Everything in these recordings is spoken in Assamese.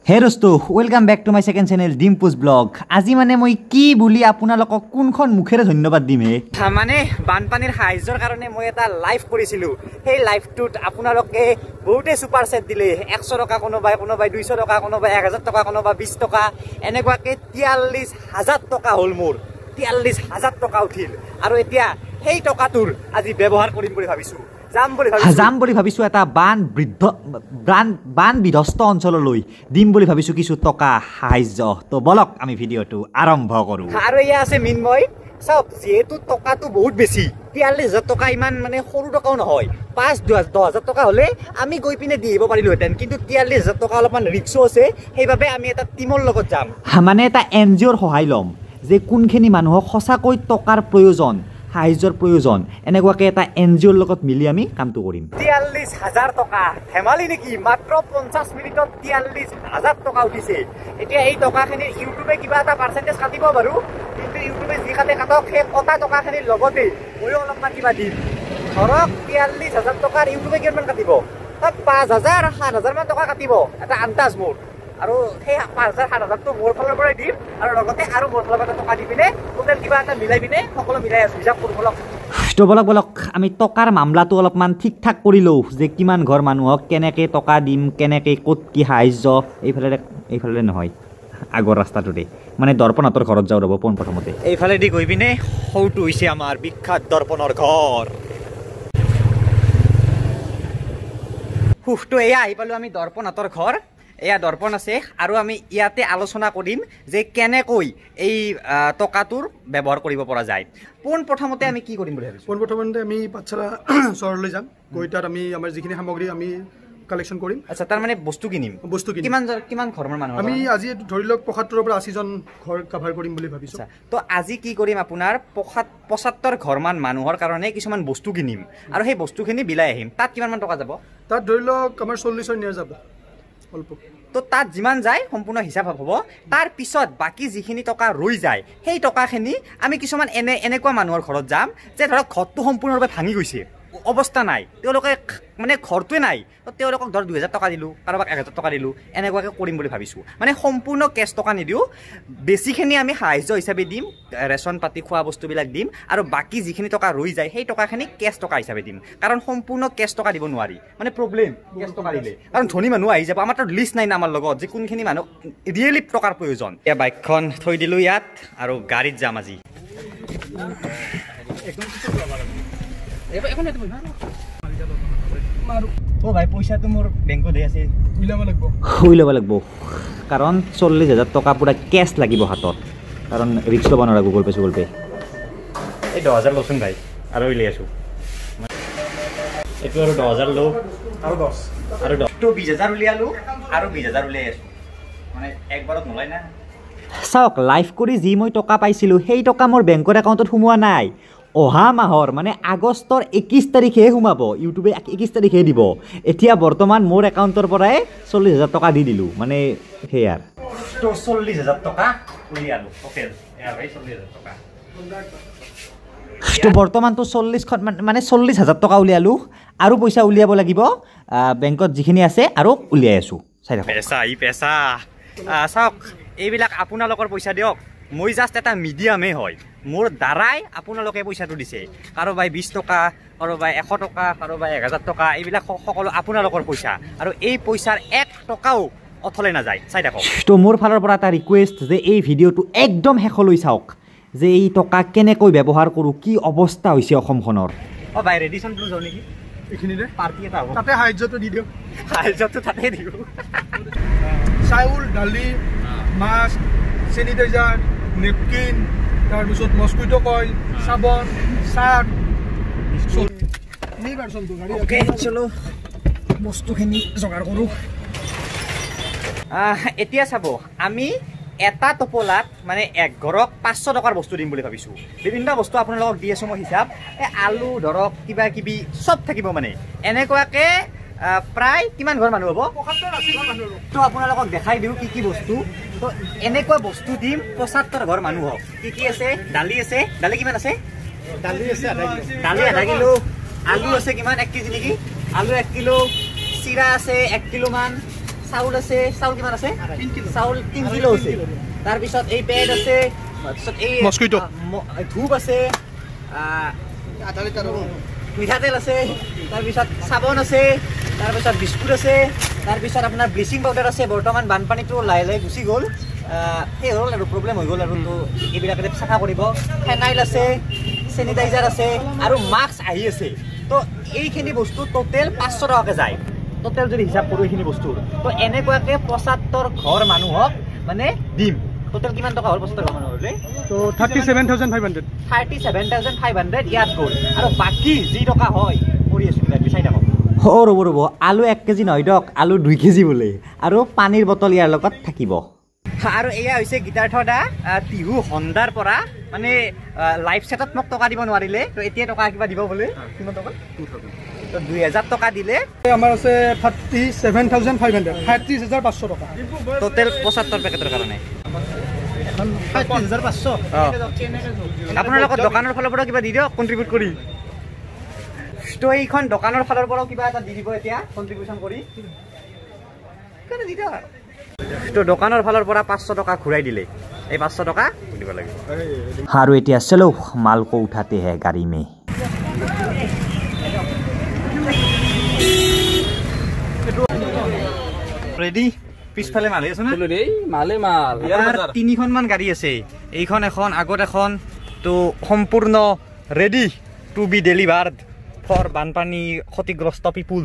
হে দোস্ত, welcome back to my second channel Dimpu's blog. আজি মানে মই কি বুলি আপোনালোকক কোনখন মুখেৰে ধন্যবাদ দিম হে। মানে বানপানীৰ সাহায্যৰ কাৰণে মই এটা লাইভ কৰিছিলোঁ। সেই লাইভটোত আপোনালোকে বহুতে ছুপাৰ চেট দিলে। 100 টকা কোনোবাই, কোনোবাই 200 টকা, কোনোবাই 1000 টকা, কোনোবা 20 টকা, এনেকুৱাকৈ 43,000 টকা হ'ল মোৰ। 43,000 টকা উঠিল। আৰু এতিয়া সেই টকাটোৰ আজি ব্যৱহাৰ কৰিম বুলি ভাবিছোঁ। যাম বুলি ভাবিছোঁ এটা বান বিধ্বস্ত অঞ্চললৈ দিম বুলি ভাবিছোঁ কিছু টকা সাহায্য। তো বলক আমি ভিডিঅ'টো আৰম্ভ কৰোঁ। আৰু এয়া আছে মৃন্ময়। চাওক, যিহেতু টকাটো বহুত বেছি, 43,000 টকা ইমান মানে সৰু টকাও নহয়। 5 10 হাজাৰ টকা হ'লে আমি গৈ পিনে দি আহিব পাৰিলোহেঁতেন, কিন্তু 43,000 টকা অলপমান ৰিক্সো আছে। সেইবাবে আমি এটা টীমৰ লগত যাম, মানে এটা এন জি অ'ৰ সহায় ল'ম যে কোনখিনি মানুহক সঁচাকৈ টকাৰ প্ৰয়োজন, সাহায্যৰ প্ৰয়োজন। এনেকুৱাকৈ এটা এন জি অ'ৰ লগত মিলি আমি কামটো কৰিম। 43,000 টকা ধেমালি নেকি? মাত্ৰ 50 মিনিটত 43,000 টকা উঠিছে। এতিয়া এই টকাখিনিৰ ইউটিউবে কিবা এটা পাৰ্চেণ্টেজ কাটিব বাৰু, কিন্তু ইউটিউবে যি কাটে কাটক, সেই কটা টকাখিনিৰ লগতে ময়ো অলপমান কিবা দিম। ধৰক 43,000 টকাৰ ইউটিউবে কিমানমান কাটিব? তাত 5,000 7,000 মান টকা কাটিব, এটা আন্দাজ মোৰ। আৰু সেই 5,000 7,000টো মোৰ ফালৰ পৰাই দিম, আৰু লগতে আৰু মোৰ ফালৰ পৰা টকা দি পিনে টোটেল কিবা এটা মিলাই পিনে সকলো মিলাই আছোঁ, হিচাপ কৰোঁ বলক। তো বলক বলক আমি টকাৰ মামলাটো অলপমান ঠিক ঠাক কৰি লওঁ যে কিমান ঘৰ মানুহক কেনেকৈ টকা দিম, কেনেকৈ ক'ত কি সাহায্য। এইফালেৰে নহয়, আগৰ ৰাস্তাটোতে, মানে দৰ্পণহঁতৰ ঘৰত যাওঁ ৰ'ব পোনপ্ৰথমতে। এইফালেদি গৈ পিনে সৌটো হৈছে আমাৰ বিখ্যাত দৰ্পণৰ ঘৰ। সুখটো এয়া আহি পালোঁ আমি দৰ্পণহঁতৰ ঘৰ। এয়া দৰ্পণ আছে, আৰু আমি ইয়াতে আলোচনা কৰিম যে কেনেকৈ এই টকাটোৰ ব্যৱহাৰ কৰিব পৰা যায়। পোনপ্ৰথমতে আমি কি কৰিম বুলি ভাবিছোঁ? পোনপ্ৰথমতে আমি পাঠশালা চহৰলৈ যাম, গৈ তাত আমি আমাৰ যিখিনি সামগ্ৰী আমি কালেকশ্যন কৰিম। আচ্ছা, তাৰমানে বস্তু কিনিম। বস্তু কিনিম। কিমান ঘৰৰ মানুহ? আমি আজি ধৰি লওক 75ৰ পৰা 80জন ঘৰ কাভাৰ কৰিম বুলি ভাবিছোঁ। তো আজি কি কৰিম, আপোনাৰ 75 ঘৰমান মানুহৰ কাৰণে কিছুমান বস্তু কিনিম আৰু সেই বস্তুখিনি বিলাই আহিম। তাত কিমানমান টকা যাব? তাত ধৰি লওক আমাৰ 40ৰ নিয়াৰ যাব অল্প। তো তাত যিমান যায় সম্পূৰ্ণ হিচাপ হ'ব। তাৰ পিছত বাকী যিখিনি টকা ৰৈ যায়, সেই টকাখিনি আমি কিছুমান এনেকুৱা মানুহৰ ঘৰত যাম যে ধৰক ঘৰটো সম্পূৰ্ণৰূপে ভাঙি গৈছে, অৱস্থা নাই, তেওঁলোকে মানে ঘৰটোৱে নাই, তো তেওঁলোকক ধৰক 2,000 টকা দিলোঁ, কাৰোবাক 1,000 টকা দিলোঁ, এনেকুৱাকৈ কৰিম বুলি ভাবিছোঁ। মানে সম্পূৰ্ণ কেছ টকা নিদিওঁ, বেছিখিনি আমি সাহায্য হিচাপে দিম, ৰেচন পাতি খোৱা বস্তুবিলাক দিম, আৰু বাকী যিখিনি টকা ৰৈ যায় সেই টকাখিনি কেছ টকা হিচাপে দিম। কাৰণ সম্পূৰ্ণ কেছ টকা দিব নোৱাৰি, মানে প্ৰব্লেম কেছ টকা দিলে, কাৰণ ধনী মানুহ আহি যাব। আমাৰ তাত লিষ্ট নাই না আমাৰ লগত যে কোনখিনি মানুহক ৰিয়েলি টকাৰ প্ৰয়োজন। এতিয়া বাইকখন থৈ দিলোঁ ইয়াত আৰু গাড়ীত যাম আজি। অ' ভাই, পইচাটো মোৰ বেংকত আছে, উলিয়াব লাগিব, কাৰণ 40,000 টকা পূৰা কেছ লাগিব হাতত, কাৰণ ৰিক্স ল'ব নোৱাৰা গুগল পে চুগল পে। এই 10,000 লচোন ভাই, আৰু উলিয়াই আছোঁ। এইটো আৰু 10,000 লওঁ, আৰু 10 আৰু 10, তো 20,000 উলিয়ালোঁ আৰু 20,000 উলিয়াই আছোঁ, মানে একবাৰত নোলায় না। চাওক, লাইভ কৰি যি মই টকা পাইছিলোঁ সেই টকা মোৰ বেংকৰ একাউণ্টত সোমোৱা নাই। অহা মাহৰ মানে আগষ্টৰ 21 তাৰিখেহে সোমাব, ইউটিউবে 21 তাৰিখে দিব। এতিয়া বৰ্তমান মোৰ একাউণ্টৰ পৰাই 40,000 টকা দি দিলোঁ, মানে সেয়াৰ। তো 40,000 টকা উলিয়ালোঁ টোটেল। 40,000 টকা। তো বৰ্তমানটো 40খন মানে 40,000 টকা উলিয়ালোঁ, আৰু পইচা উলিয়াব লাগিব বেংকত যিখিনি আছে, আৰু উলিয়াই আছোঁ। চাই থাকক। পেচা ই পেচা। চাওক, এইবিলাক আপোনালোকৰ পইচা দিয়ক, মই জাষ্ট এটা মিডিয়ামেই হয়। মোৰ দ্বাৰাই আপোনালোকে পইচাটো দিছে। কাৰোবাই 20 টকা, কাৰোবাই 100 টকা, কাৰোবাই 1,000 টকা, এইবিলাক সকলো আপোনালোকৰ পইচা, আৰু এই পইচাৰ 1 টকাও অথলে নাযায়। চাই থাকক। তো মোৰ ফালৰ পৰা এটা ৰিকুৱেষ্ট যে এই ভিডিঅ'টো একদম শেষলৈ চাওক, যে এই টকা কেনেকৈ ব্যৱহাৰ কৰোঁ, কি অৱস্থা হৈছে অসমখনৰ। অ' ভাই, ৰেডিশ্যন ব্লু যাওঁ নেকি? এইখিনিতে পাৰ্টি এটা হ'ব, তাতে সাহায্যটো দি দিয়ক। সাহায্যটো তাতে দিওঁ। চাউল, দালি, মাস্ক, চেনিটাইজাৰ, নেপকিন, তাৰপিছত মস্কুইটো কইল, চাবোন, চাৰ্ট। অ'কে, চলো বস্তুখিনি যোগাৰ কৰোঁ। এতিয়া চাব, আমি এটা টোপোলাত মানে এক ঘৰক 500 টকাৰ বস্তু দিম বুলি ভাবিছোঁ। বিভিন্ন বস্তু আপোনালোকক দি আছোঁ মই হিচাপ। এই আলু ধৰক কিবা কিবি চব থাকিব, মানে এনেকুৱাকৈ প্ৰায় কিমান ঘৰ মানুহ হ'ব তো আপোনালোকক দেখাই দিওঁ কি কি বস্তু। তো এনেকুৱা বস্তু দিম 75 ঘৰ মানুহক। কি কি আছে? দালি আছে, দালি কিমান আছে? দালি আছে দালি আধা কিলো। আলু আছে কিমান? 1 কেজি নেকি? আলু 1 কিলো। চিৰা আছে 1 কিলোমান। চাউল আছে, চাউল কিমান আছে? চাউল 3 কিলো আছে। তাৰপিছত এই পেড আছে, তাৰপিছত এই মস্কিটো ধূপ আছে, মিঠাতেল আছে, তাৰপিছত চাবোন আছে, তাৰপিছত বিস্কুট আছে, তাৰপিছত আপোনাৰ ব্লিচিং পাউডাৰ আছে। বৰ্তমান বানপানীটো লাহে লাহে গুচি গ'ল, সেই হ'ল আৰু প্ৰব্লেম হৈ গ'ল আৰু, তো এইবিলাকে চাফা কৰিব। ফেনাইল আছে, চেনিটাইজাৰ আছে, আৰু মাস্ক আহি আছে। তো এইখিনি বস্তু টোটেল 500 টকাকৈ যায় টোটেল যদি হিচাপ কৰোঁ এইখিনি বস্তুৰ। তো এনেকুৱাকৈ 75 ঘৰ মানুহক মানে দিম। টোটেল কিমান টকা হ'ল 75 ঘৰ মানুহ হ'লে? তো 37,500। 37,500 ইয়াত গ'ল। আৰু বাকী যি টকা হয় কৰি আছোঁ কিবা চাই থাকক। অ' ৰ'ব ৰ'ব, আলু 1 কেজি নহয় দিয়ক, আলু 2 কেজি বোলে, আৰু পানীৰ বটল ইয়াৰ লগত থাকিব। আৰু এয়া হৈছে গীতাৰ্থ দা টিহু হণ্ডাৰ পৰা, মানে লাইভ ছেটত মোক টকা দিব নোৱাৰিলে, তো এতিয়া টকা কিবা দিব বোলে। কিমান টকা? তো 2000 টকা দিলে। আমাৰ আছে 37,500, 37,500 টকা টোটেল 75 পেকেটৰ কাৰণে। 37,500। আপোনালোকৰ দোকানৰ ফালৰ পৰা কিবা দি দিয়ক কণ্ট্ৰিবিউট কৰি। তো এইখন দোকানৰ ফালৰ পৰাও কিবা এটা দি দিব এতিয়া কণ্ট্ৰিবিউশ্যন কৰি, দি দিয়ক। তো দোকানৰ ফালৰ পৰা 500 টকা ঘূৰাই দিলে, এই 500 টকা দিব লাগিব। আৰু এতিয়া চলো মাল কো উঠাতে হে গাড়ী মে। ৰেডি? পিছফালে মাল আছে না? মালে মাল 3খনমান গাড়ী আছে, এইখন এখন, আগত এখন। তো সম্পূৰ্ণ ready to be delivered for বানপানী ক্ষতিগ্ৰস্ত পিপুল।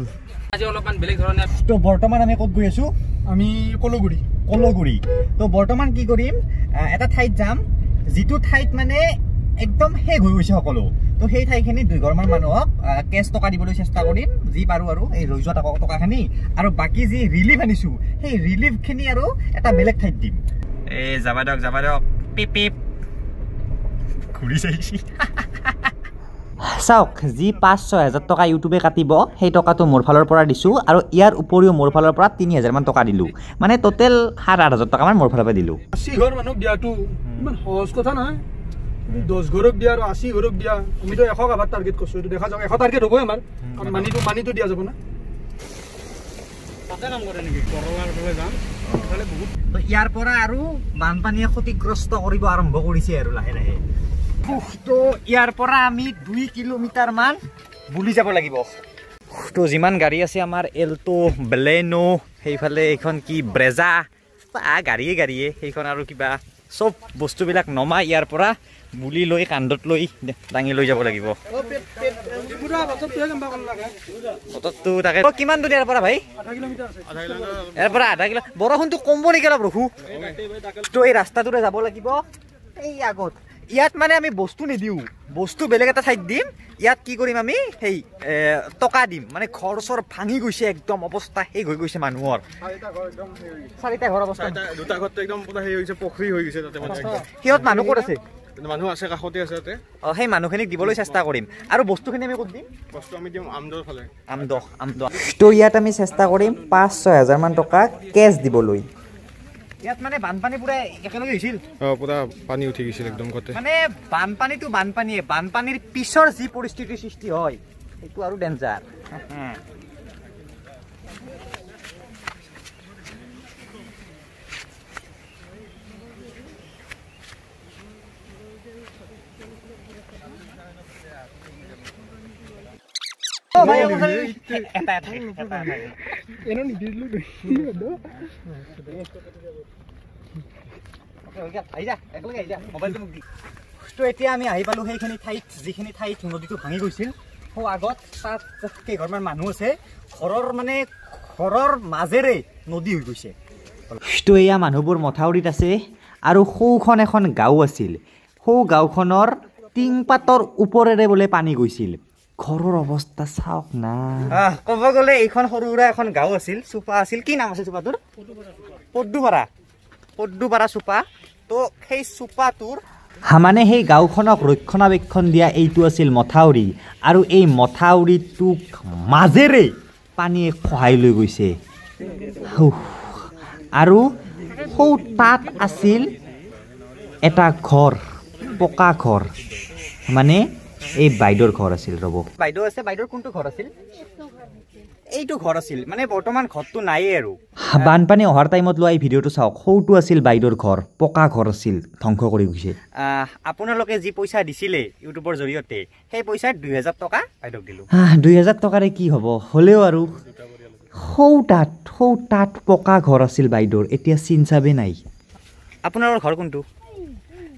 আজি অলপমান বেলেগ ধৰণে। তো বৰ্তমান আমি ক'ত গৈ আছো? আমি কলগুৰি। কলগুৰি। তো বৰ্তমান কি কৰিম, এটা ঠাইত যাম যিটো ঠাইত মানে একদম শেষ হৈ গৈছে সকলো। তো সেই ঠাইখিনি 2 ঘৰমান মানুহক কেছ টকা দিবলৈ চেষ্টা কৰিম যি পাৰোঁ, আৰু এই ৰৈ যোৱা টকাখিনি, আৰু বাকী যি ৰিলিফ আনিছোঁ সেই ৰিলিফখিনি আৰু এটা বেলেগ ঠাইত দিম। এই যাবা দিয়ক, যাবা দিয়ক, পিপ পিপ ঘূৰি চাইছি। চাওক, যি 5-6 হাজাৰ টকা ইউটিউবে কাটিব সেই টকাটো মোৰ ফালৰ পৰা দিছোঁ, আৰু ইয়াৰ উপৰিও মোৰ ফালৰ পৰা 3,000মান টকা দিলোঁ, মানে টোটেল 7-8 হাজাৰ টকামান মোৰ ফালৰ পৰা দিলোঁ। 80 ঘৰ মানুহক দিয়াটো ইমান সহজ কথা নহয়। 10 ঘৰক দিয়া আৰু 80 ঘৰক দিয়া, আমিতো 100 আভাৰ টাৰ্গেট কৰিছোঁ, এইটো দেখা যাওক 100 টাৰ্গেট হ'বই আমাৰ, কাৰণ মানিটো দিয়া যাব না। ইয়াৰ পৰা আৰু বানপানীয়ে ক্ষতিগ্ৰস্ত কৰিব আৰম্ভ কৰিছে আৰু লাহে লাহে। তো ইয়াৰ পৰা আমি 2 কিলোমিটাৰ মান বুলি যাব লাগিব। তো যিমান গাড়ী আছে আমাৰ এল্টো, বেলেনো, সেইফালে এইখন কি ব্ৰেজা, গাড়ীয়ে গাড়ীয়ে সেইখন আৰু কিবা চব বস্তুবিলাক নমাই ইয়াৰ পৰা বুলি লৈ কান্ধত লৈ দাঙি লৈ যাব লাগিব। তাকে কিমান দূৰ ইয়াৰ পৰা ভাই? ইয়াৰ পৰা আধা কিলো। বৰষুণটো কমব নেকি অলপ? ৰখো। তো এই ৰাস্তাটোৰে যাব লাগিব। এই আগত ইয়াত মানে আমি বস্তু নিদিওঁ, বস্তু বেলেগ এটা ঠাইত দিম। ইয়াত কি কৰিম আমি, সেই টকা দিম। মানে ঘৰ চৰ ভাঙি গৈছে একদম, অৱস্থা শেষ হৈ গৈছে মানুহৰ। 4টা ঘৰ অৱস্থা, দুটা ঘৰটো একদম পুৰা সেই হৈছে, পুখুৰী হৈ গৈছে তাতে। সিহঁত মানুহ ক'ত আছে? মানুহ আছে, কাষতে আছে তাতে। অ, সেই মানুহখিনিক দিবলৈ চেষ্টা কৰিম। আৰু বস্তুখিনি আমি ক'ত দিম? বস্তু আমি দিম আমদৰ ফালে। আমদহ, আমদহ। তো ইয়াত আমি চেষ্টা কৰিম 5-6 হাজাৰমান টকা কেছ দিবলৈ। ইয়াত মানে বানপানী পুৰা একেলগে হৈছিল। অ, পুৰা পানী উঠি গৈছিল একদম গোটেই। মানে বানপানীটো বানপানীয়ে, বানপানীৰ পিছৰ যি পৰিস্থিতিৰ সৃষ্টি হয় সেইটো আৰু ডেঞ্জাৰ। তো এতিয়া আমি আহি পালো সেইখিনি ঠাইত যিখিনি ঠাইত নদীটো ভাঙি গৈছিল। সৌ আগত তাত কেইঘৰমান মানুহ আছে, ঘৰৰ মানে ঘৰৰ মাজেৰে নদী হৈ গৈছে। তো এয়া মানুহবোৰ মথাউৰিত আছে, আৰু সৌখন এখন গাঁও আছিল। সৌ গাঁওখনৰ টিংপাতৰ ওপৰেৰে বোলে পানী গৈছিল। ঘৰৰ অৱস্থা চাওক না। ক'ব গ'লে এইখন সৰু সুৰা এখন গাঁও আছিল, চোপা আছিল। কি নাম আছিল চোপাটোৰ? পদ্মুপাৰা। পদ্মুপাৰা চোপা। তো সেই চোপাটোৰ মানে সেই গাঁওখনক ৰক্ষণাবেক্ষণ দিয়া এইটো আছিল মথাউৰি, আৰু এই মথাউৰিটোক মাজেৰে পানীয়ে খহাই লৈ গৈছে। আৰু সৌ তাত আছিল এটা ঘৰ, পকা ঘৰ, মানে এই বাইদেউৰ ঘৰ আছিল। ৰ'ব, বাইদেউ আছে, বাইদেউৰ কোনটো ঘৰ আছিল? এইটো ঘৰ আছিল, মানে বৰ্তমান ঘৰটো নায়েই আৰু। বানপানী অহাৰ টাইমত লোৱা এই ভিডিঅ'টো চাওক, সৌটো আছিল বাইদেউৰ ঘৰ, পকা ঘৰ আছিল, ধ্বংস কৰি গৈছে। আপোনালোকে যি পইচা দিছিলে ইউটিউবৰ জৰিয়তে, সেই পইচা 2000 টকা বাইদেউক দিলোঁ। 2000 টকাৰে কি হ'ব, হ'লেও আৰু সৌ তাত পকা ঘৰ আছিল বাইদেউৰ, এতিয়া চিন চাবেই নাই। আপোনালোকৰ ঘৰ কোনটো?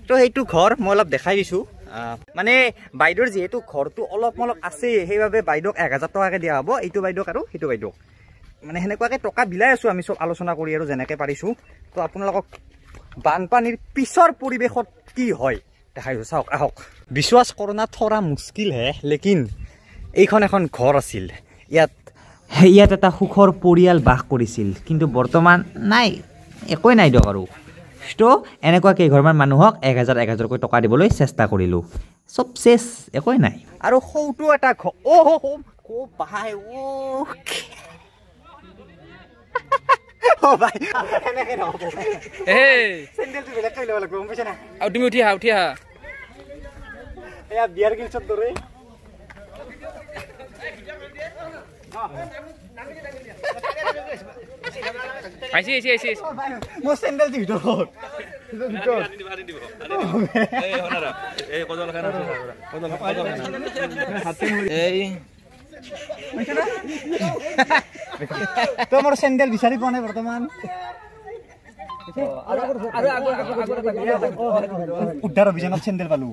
তো সেইটো ঘৰ মই অলপ দেখাই দিছোঁ। মানে বাইদেউৰ যিহেতু ঘৰটো অলপ অলপ আছে, সেইবাবে বাইদেউক 1000 টকাকৈ দিয়া হ'ব, এইটো বাইদেউক আৰু সেইটো বাইদেউক। মানে সেনেকুৱাকৈ টকা বিলাই আছোঁ আমি চব আলোচনা কৰি আৰু যেনেকৈ পাৰিছোঁ। তো আপোনালোকক বানপানীৰ পিছৰ পৰিৱেশত কি হয় দেখাই দিছোঁ, চাওক আহক। বিশ্বাস কৰোনা থৰা মুস্কিল হে, লেকিন এইখন এখন ঘৰ আছিল, ইয়াত এটা সুখৰ পৰিয়াল বাস কৰিছিল, কিন্তু বৰ্তমান নাই, একোৱেই নাই দিয়ক আৰু। তো এনেকুৱা কেইঘৰমান মানুহক 1000 1000কৈ টকা দিবলৈ চেষ্টা কৰিলোঁ, চব চেচ, একোৱেই নাই। আৰু সৌটো এটা ঘৰ, অ' অ' ভাই, অ' অ' ভাই, সেনেকৈ নহ'ব, চেণ্ডেলটো বেলেগকৈ ল'ব লাগিব, গম পাইছা না? আৰু তুমি উঠি আহা, উঠি আহা। এয়া বিয়াৰ গিলছত দৰে। আহিছে আহিছে আহিছে। মোৰ চেণ্ডেলটো ভিতৰত। তই মোৰ চেণ্ডেল বিচাৰি পোৱা নাই বৰ্তমান। উদ্ধাৰ অভিযানত চেণ্ডেল পালো।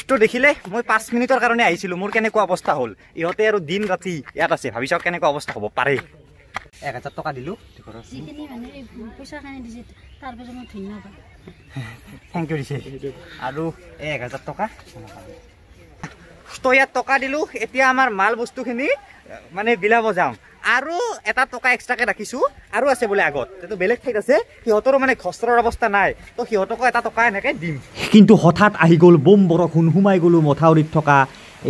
তো দেখিলে মই 5 মিনিটৰ কাৰণে আহিছিলোঁ, মোৰ কেনেকুৱা অৱস্থা হ'ল। ইহঁতে আৰু দিন ৰাতি ইয়াত আছে, ভাবি চাওক কেনেকুৱা অৱস্থা হ'ব পাৰে। 1000 টকা দিলোঁ, thank U দিছে। আৰু এই 1000 টকা তো ইয়াত টকা দিলোঁ। এতিয়া আমাৰ মাল বস্তুখিনি মানে বিলাব যাম। আৰু এটা টকা এক্সট্ৰাকৈ ৰাখিছোঁ, আৰু আছে বোলে আগত, এইটো বেলেগ ঠাইত আছে, সিহঁতৰো মানে ঘৰৰ অৱস্থা নাই, তো সিহঁতকো এটা টকা এনেকৈ দিম। কিন্তু হঠাৎ আহি গ'ল বোম বৰষুণ, সোমাই গ'লোঁ মথাউৰিত থকা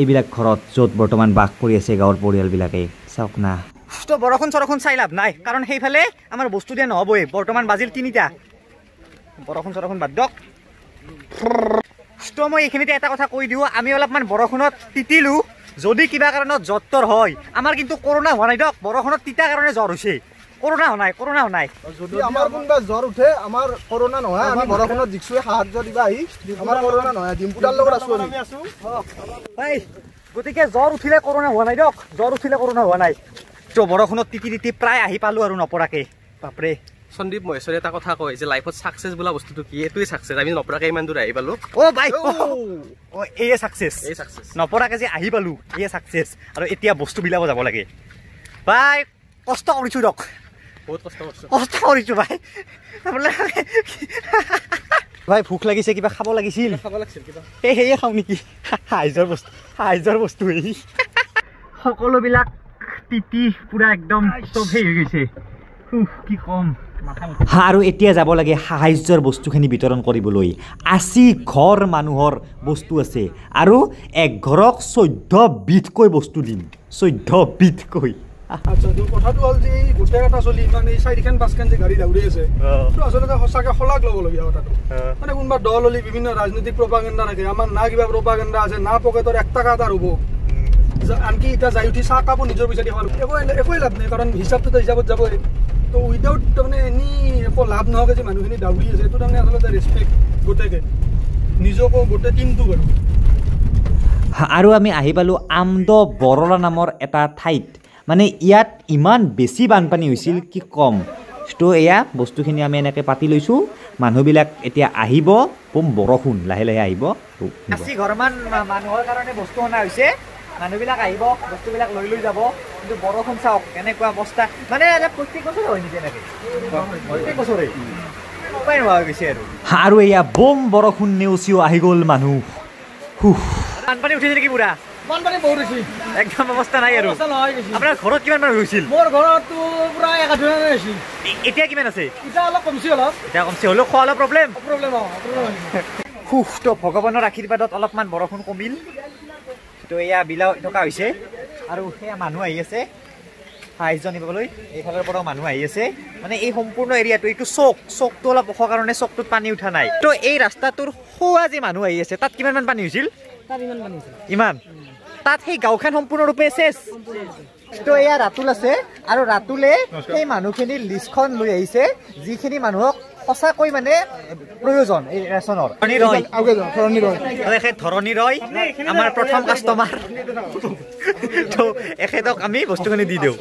এইবিলাক ঘৰত য'ত বৰ্তমান বাস কৰি আছে গাঁৱৰ পৰিয়ালবিলাকে। চাওক না, তো বৰষুণ চৰষুণ চাই লাভ নাই, কাৰণ সেইফালে আমাৰ বস্তু দিয়া নহ'বই। বৰ্তমান বাজিল 3টা, বৰষুণ চৰষুণ বাদ দিয়ক। তো মই এইখিনিতে এটা কথা কৈ দিওঁ, আমি অলপমান বৰষুণত তিতিলোঁ, যদি কিবা কাৰণত জ্বৰ তৰ হয়, আমাৰ কিন্তু কৰোণা হোৱা নাই দিয়ক, বৰষুণত তিতাৰ কাৰণে জ্বৰ হৈছে, কৰোণা হোৱা নাই, কৰোণা হোৱা নাই। যদি আমাৰ কোনোবা জ্বৰ উঠে, আমাৰ কৰোণা নহয়, আমি বৰষুণত জিকছোৱে, সাহায্য দিবা আহি, আমাৰ কৰোণা নহয়, ডিম্পুদাৰ লগত আছোঁ আমি। গতিকে জ্বৰ উঠিলে কৰোণা হোৱা নাই দিয়ক, জ্বৰ উঠিলে কৰোণা হোৱা নাই। তো বৰষুণত তিতি তিতি প্ৰায় আহি পালোঁ আৰু নপৰাকে, বাপৰে। সন্দীপ মহেশ্বৰে এটা কথা কয় যে লাইফত ছাকচেছ বোলা বস্তুটো কি, এইটোৱে ছাকচেছ। আমি নপৰাকে ইমান দূৰ আহি পালোঁ। অ' ভাই, অ' এয়ে ছাকচেছ, এই ছাকচেছ, নপৰাকে যে আহি পালোঁ এয়ে ছাকচেছ। আৰু এতিয়া বস্তু বিলাব যাব লাগে ভাই, কষ্ট কৰিছোঁ দিয়ক, বহুত কষ্ট কৰিছোঁ, কষ্ট কৰিছোঁ ভাই। ভাই ভোক লাগিছে, কিবা খাব লাগিছিল, খাব লাগিছিল কিবা, এই সেয়ে খাওঁ নেকি, সাহায্যৰ বস্তু, সাহায্যৰ বস্তু এই। সকলোবিলাক তিতি পূৰা একদম চব হেৰি হৈ গৈছে, কি ক'ম। আৰু এতিয়া যাব লাগে সাহায্যৰ বস্তুখিনি বিতৰণ কৰিবলৈ। 80 ঘৰ মানুহৰ বস্তু আছে, আৰু এক ঘৰক 14 বিধকৈ বস্তু দিম, 14 বিধকৈ। আচ্ছা, কথাটো হ'ল যে এই গোটেইকেইটা চলি মানে এই 4খন 5খন যে গাড়ী দৌৰি আছে, এইটো আচলতে সঁচাকৈ শলাগ ল'বলগীয়া কথাটো। মানে কোনোবা দল হ'লে বিভিন্ন ৰাজনৈতিক প্ৰপাগেণ্ডা থাকে, আমাৰ না কিবা প্ৰপাগেণ্ডা আছে, না পকেটৰ 1 টকা এটা ৰ'ব। আনকি এতিয়া যাই উঠি চাহ কাপো নিজৰ পইচা দি খাব, একোৱে লাভ নাই, কাৰণ হিচাপটোতো হিচাপত যাবই। তো উইদাউট তাৰমানে এনি একো লাভ নোহোৱাকৈ যে মানুহখিনি দাউৰি আছে, এইটো তাৰমানে আচলতে ৰেচপেক্ট গোটেইকে নিজকো গোটেই টিমটোক। আৰু আমি আহি পালোঁ আমদ বৰলা নামৰ এটা ঠাইত, মানে ইয়াত ইমান বেছি বানপানী হৈছিল কি ক'ম। তো এয়া বস্তুখিনি আমি এনেকৈ পাতি লৈছোঁ, মানুহবিলাক এতিয়া আহিব, বম বৰষুণ লাহে লাহে আহিব। 80 ঘৰমান মানুহৰ কাৰণে বস্তু অনা হৈছে, মানুহবিলাক আহিব, বস্তুবিলাক লৈ লৈ যাব। কিন্তু বৰষুণ চাওক কেনেকুৱা অৱস্থা, মানে প্ৰত্যেক বছৰে হয় নেকি এনেকৈ, প্ৰত্যেক বছৰে উপায় নোহোৱা হৈ গৈছে আৰু। আৰু এয়া বম বৰষুণ নেওচিও আহি গ'ল মানুহ। বানপানী উঠিছে নেকি পুৰা? বানপানী বহুত হৈছে, একদম অৱস্থা নাই আৰু। আপোনাৰ ঘৰত কিমান মানুহ হৈছিল? মোৰ ঘৰততো পুৰা 1000 হৈছিল। এতিয়া কিমান আছে? এতিয়া অলপ কমছি, অলপ এতিয়া কমছি, হ'লেও খোৱা অলপ প্ৰব্লেম, প্ৰব্লেম। সুখ তো ভগৱানৰ আশীৰ্বাদত অলপমান বৰষুণ কমিল। তো এয়া বিলাও থকা হৈছে আৰু সেয়া মানুহ আহি আছে। সাহায্য নিবলৈ এইফালৰ পৰাও মানুহ আহি আছে। মানে এই সম্পূৰ্ণ এৰিয়াটো, এইটো চকটো অলপ ওখ কাৰণে চকটোত পানী উঠা নাই। তো এই ৰাস্তাটোৰ সোঁৱা যি মানুহ আহি আছে, তাত কিমানমান পানী হৈছিল? ইমান। তাত সেই গাঁওখন সম্পূৰ্ণৰূপে চেচ। তো এয়া ৰাতুল আছে, আৰু ৰাতুলে সেই মানুহখিনিৰ লিষ্টখন লৈ আহিছে, যিখিনি মানুহক সঁচাকৈ মানে প্ৰয়োজন এই ৰেচনৰ। ধৰণী ৰয় আমাৰ প্ৰথম কাষ্টমাৰ, তো এখেতক আমি বস্তুখিনি দি দিওঁ।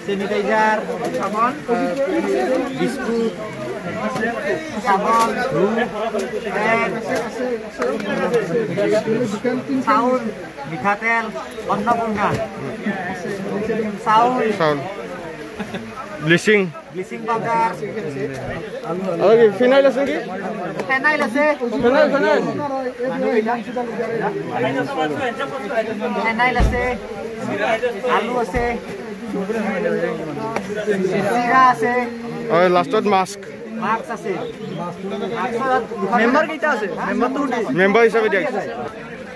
চেনিটাইজাৰ, বিস্কুট, চাবোন, চাউল, মিঠাতেল, অন্নপূৰ্ণা চাউল, ব্লিচিং পাউডাৰ, ফিনাইল আছে নেকি? ফেনাইল আছে, ফেনাইল আছে, আলু আছে, চিৰা আছে, লাষ্টত মাস্ক আছে। মেম্বাৰ কেইটা আছে? মেম্বাৰ হিচাপে দিয়া।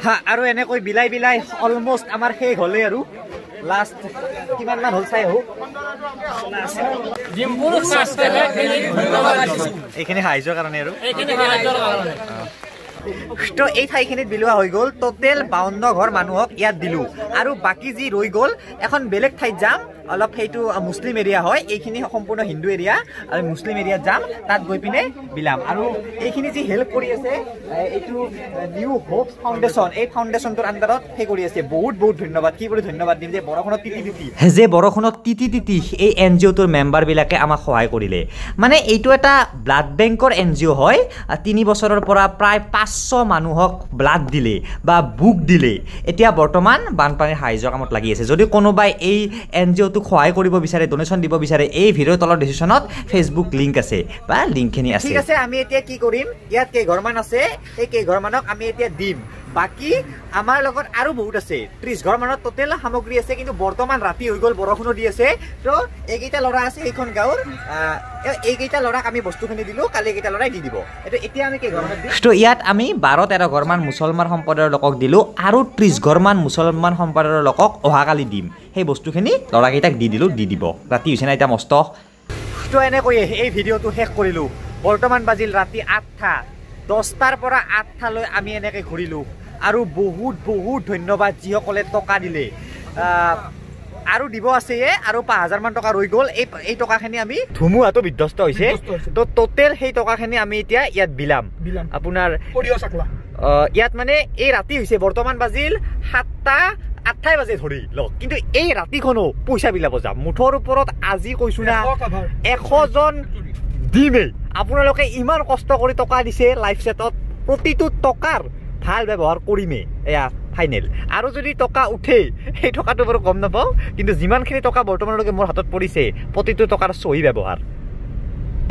হা, আৰু এনেকৈ বিলাই বিলাই অলমষ্ট আমাৰ শেষ হ'লেই। আৰু লাষ্ট কিমানমান হ'ল চাই আহোঁ। এইখিনি সাহায্যৰ কাৰণে আৰু তো এই ঠাইখিনিত বিলোৱা হৈ গ'ল। টোটেল 52 ঘৰ মানুহক ইয়াত দিলোঁ, আৰু বাকী যি ৰৈ গ'ল এখন বেলেগ ঠাইত যাম। অলপ সেইটো মুছলিম এৰিয়া হয়, এইখিনি সম্পূৰ্ণ হিন্দু এৰিয়া, আৰু মুছলিম এৰিয়াত যাম, তাত গৈ পিনে বিলাম। আৰু এইখিনি যি হেল্প কৰি আছে, এইটো নিউ হোপ ফাউণ্ডেশ্যন, এই ফাউণ্ডেশ্যনটোৰ আণ্ডাৰত সেই কৰি আছে। বহুত বহুত ধন্যবাদ। কি কৰি ধন্যবাদ দিম যে বৰষুণত তিতি তিতি, যে বৰষুণত তিতি তিতি এই এন জি অ'টোৰ মেম্বাৰবিলাকে আমাক সহায় কৰিলে। মানে এইটো এটা ব্লাড বেংকৰ এন জি অ' হয়। 3 বছৰৰ পৰা প্ৰায় 500 মানুহক ব্লাড দিলে বা বুক দিলে। এতিয়া বৰ্তমান বানপানীৰ সাহায্য কামত লাগি আছে। যদি কোনোবাই এই এন জি অ'টোক সহায় কৰিব বিচাৰে, ডনেশ্যন দিব বিচাৰে, এই ভিডিঅ'ৰ তলৰ ডিছক্ৰিপশ্যনত ফেচবুক লিংক আছে বা লিংকখিনি আছে। ঠিক আছে, আমি এতিয়া কি কৰিম, ইয়াত কেইঘৰমান আছে, সেই কেইঘৰমানক আমি এতিয়া দিম। বাকী আমাৰ লগত আৰু বহুত আছে, 30 ঘৰমানত টোটেল সামগ্ৰী আছে। কিন্তু বৰ্তমান ৰাতি হৈ গ'ল, বৰষুণো দি আছে। তো এইকেইটা ল'ৰা আছে এইখন গাঁৱৰ, এইকেইটা ল'ৰাক আমি বস্তুখিনি দিলোঁ, কালি এইকেইটা ল'ৰাই দি দিব। এইটো এতিয়া আমি কেইঘৰমানত দিম? তো ইয়াত আমি 12-13 ঘৰমান মুছলমান সম্প্ৰদায়ৰ লোকক দিলোঁ, আৰু 30 ঘৰমান মুছলমান সম্প্ৰদায়ৰ লোকক অহাকালি দিম। সেই বস্তুখিনি ল'ৰাকেইটাক দি দিলোঁ, দি দিব। ৰাতি হৈছে না এতিয়া মস্ত। তো এনেকৈয়ে এই ভিডিঅ'টো শেষ কৰিলোঁ। বৰ্তমান বাজিল ৰাতি 8টা, 10টাৰ পৰা 8টালৈ আমি এনেকৈ ঘূৰিলোঁ। আৰু বহুত বহুত ধন্যবাদ যিসকলে টকা দিলে। আৰু দিব আছে, আৰু 5000 মান টকা ৰৈ গ'ল। এই টকাখিনি আমি ধুমুহাটো বিধ্বস্ত হৈছে, তো টোটেল সেই টকাখিনি আমি এতিয়া ইয়াত বিলাম। আপোনাৰ ইয়াত মানে এই ৰাতি হৈছে, বৰ্তমান বাজিল 7টা, 8টাই বাজে ধৰি লওক, কিন্তু এই ৰাতিখনো পইচা বিলাব যাম। মুঠৰ ওপৰত আজি কৈছো না, 100 জন দিমেই। আপোনালোকে ইমান কষ্ট কৰি টকা দিছে লাইফ ছেটত, প্ৰতিটো টকাৰ ভাল ব্যৱহাৰ কৰিমেই, এয়া ফাইনেল। আৰু যদি টকা উঠে, সেই টকাটো বাৰু গম নাপাওঁ, কিন্তু যিমানখিনি টকা বৰ্তমানলৈকে মোৰ হাতত পৰিছে, প্ৰতিটো টকাৰ চহী ব্যৱহাৰ।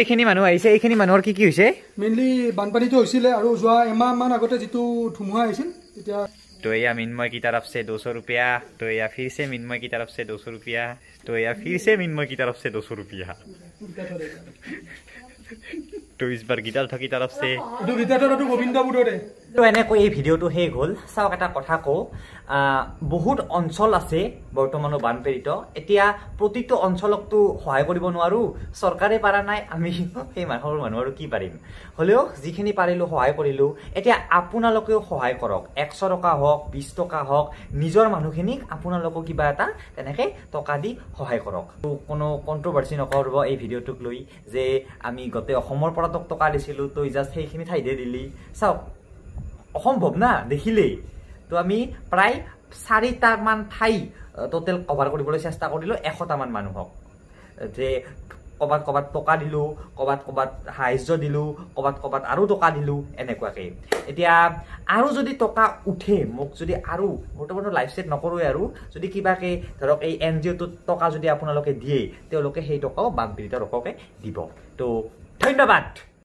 এইখিনি মানুহ আহিছে, এইখিনি মানুহৰ কি কি হৈছে? মেইনলি বানপানীটো হৈছিলে, আৰু যোৱা এমাহমান আগতে যিটো ধুমুহা আহিছিল তেতিয়া। तो या मिन्मय की तरफ से 200 रुपया, तो या फिर से मिन्मय की तरफ से 200 रुपया, तो या फिर से मिन्मय की तरफ से 200 रुपया, तो इस बार गीतार्थ की तरफ से। তো এনেকৈ এই ভিডিঅ'টো শেষ হ'ল। চাওক, এটা কথা কওঁ, বহুত অঞ্চল আছে বৰ্তমানো বানপীড়িত। এতিয়া প্ৰতিটো অঞ্চলকতো সহায় কৰিব নোৱাৰোঁ, চৰকাৰে পৰা নাই, আমি সেই মানুহৰ মানুহ আৰু কি পাৰিম। হ'লেও যিখিনি পাৰিলোঁ সহায় কৰিলোঁ। এতিয়া আপোনালোকেও সহায় কৰক, 100 টকা হওক, 20 টকা হওক, নিজৰ মানুহখিনিক আপোনালোকেও কিবা এটা তেনেকৈ টকা দি সহায় কৰক। কোনো কণ্ট্ৰভাৰ্চি নকৰিব এই ভিডিঅ'টোক লৈ যে আমি গোটেই অসমৰ পৰা তোক টকা দিছিলোঁ, তই জাষ্ট সেইখিনি ঠাইতে দিলি। চাওক, অসম্ভৱ না দেখিলেই। তো আমি প্ৰায় 4টামান ঠাই টোটেল কভাৰ কৰিবলৈ চেষ্টা কৰিলোঁ, 100টামান মানুহক, যে ক'ৰবাত ক'ৰবাত টকা দিলোঁ, ক'ৰবাত ক'ৰবাত সাহায্য দিলোঁ, ক'ৰবাত ক'ৰবাত আৰু টকা দিলোঁ, এনেকুৱাকৈ। এতিয়া আৰু যদি টকা উঠে, মোক যদি আৰু বৰ্তমানতো লাইভ ছেট নকৰোঁৱে, আৰু যদি কিবাকৈ ধৰক এই এন জি অ'টোত টকা যদি আপোনালোকে দিয়ে, তেওঁলোকে সেই টকাও বানপীড়িত লোককে দিব। তো ধন্যবাদ।